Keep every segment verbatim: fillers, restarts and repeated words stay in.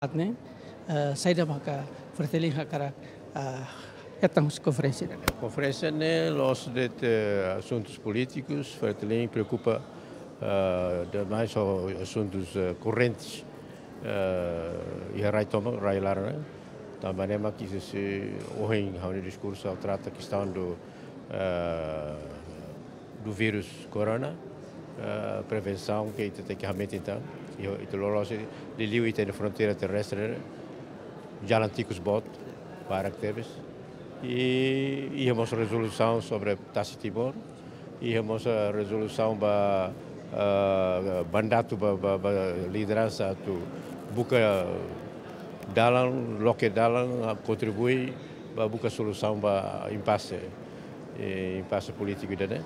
Ne'e, eh, saida maka Fretilin hakarak, eh, hetan husi konferénsia ne'e? Konferénsia ne'e la'ós de'it, eh, asuntus polítikus, Fretilin preokupa, eh, demais ho asuntus, eh, korrentes, eh, iha rai tomak, rai laran ne'e. Tanba ne'e mak husi ohin ha'u-nia diskursu ha'u trata kestaun do, eh, do vírus corona, eh, prevensaun ke ita tenke hametin tan. I ita loloos, liuliu ita-nia fronteira terrestre, jalan tikus boot, barak tebes. I, i iha mós rezolusaun sobre Tasi Timor, i iha mós, eh, rezolusaun ba, eh, mandatu ba, ba, ba lideransa atu buka dalan, loke dalan, ah, kontribui ba buka solusaun ba impase, eh, impase polítiku ida-ne'e.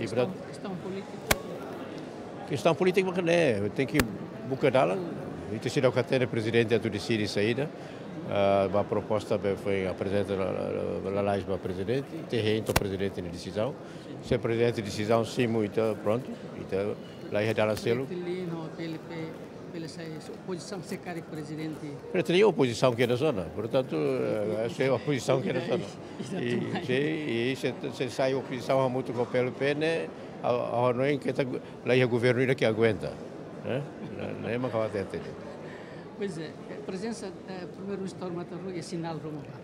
I kestaun, portantu, kestaun polítiku. Kestaun polítiku mak ne'e, tenke buka dalan. Ita seidauk hatene prezidente atu deside saida. Ah, ba proposta be foin aprezenta la, la, la, lalais ba prezidente, ita hein to'o prezidente nia desizaun. Se prezidente desizaun simu, ita prontu, ita laiha dalan seluk. Fretilin ho PLP, PLC, se opozisaun se karik prezidente. Fretilin opozisaun kedas ona. Portantu, eh, se opozisaun kedas ona. I, exatamente, se, i se, se sai opozisaun hamutuk ho PLP ne'e, a, a, no en keta laiha governu ida ke aguenta. Eh? Ne'e, ne'e mak ha'u hatete. Pois é, prezensa, eh, Primeiru-Ministru Matar Rui é sinál ruma ba?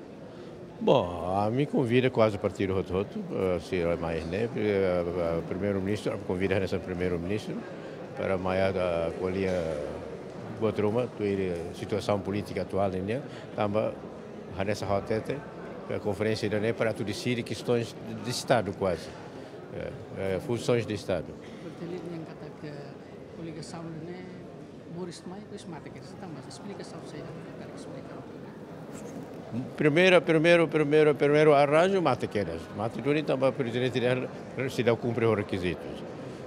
Bom, ami konvida kuaze partidu hotu-hotu, eh, sira mai ne'e, eh, Primeiru-Ministru, konvida hanesan Primeiru-Ministru, para mai atu ko'alia buat ruma, tuir situasaun polítika atuál ne'e, tanba hanesan ha'u hatete, eh, konferénsia ida-ne'e para atu deside kestaun de Estadu kuaze. Eh, eh, funsoens de Estadu. Berarti ne'e katak koligasaun ne'e moris mai, depois mate kedas, tanba esplikasaun saida, karik esplika. Primeira, primeiru, primeiru, primeiru arranju mate kedas. Mate duni tanba prezidente dehan seidauk kumpre ho rekizitus.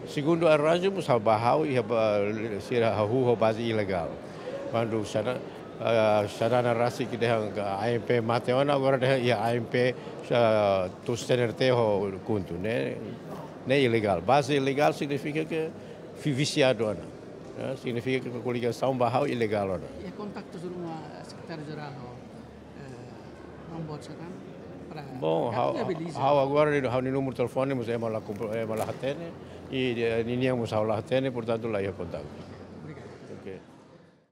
Segundu arranju, mós ha'u ba ha'u, iha ba, sira hahú ho baze ilegál. Kuandu Xana-, ah, Xanana rasik dehan ANP mate ona, agora dehan iha ANP, ah, to'o CNRT ho KHUNTO, ne'e, ne'e ilegál. Baze ilegál signifika ke fi-, visiadu ona. Eh, signifika ke koligasaun ba ha'u ilegál ona. I kontaktu ruma Sekretáriu-Jerál ho, eh, Ramon Xanana para, bom, para ha'u, viabiliza. Ha'u agora, ha'u-nia númeru telefone, mós ema la kompro-, ema la hatene, i, eh, ninian mós ha'u la hatene, portantu, la iha kontaktu.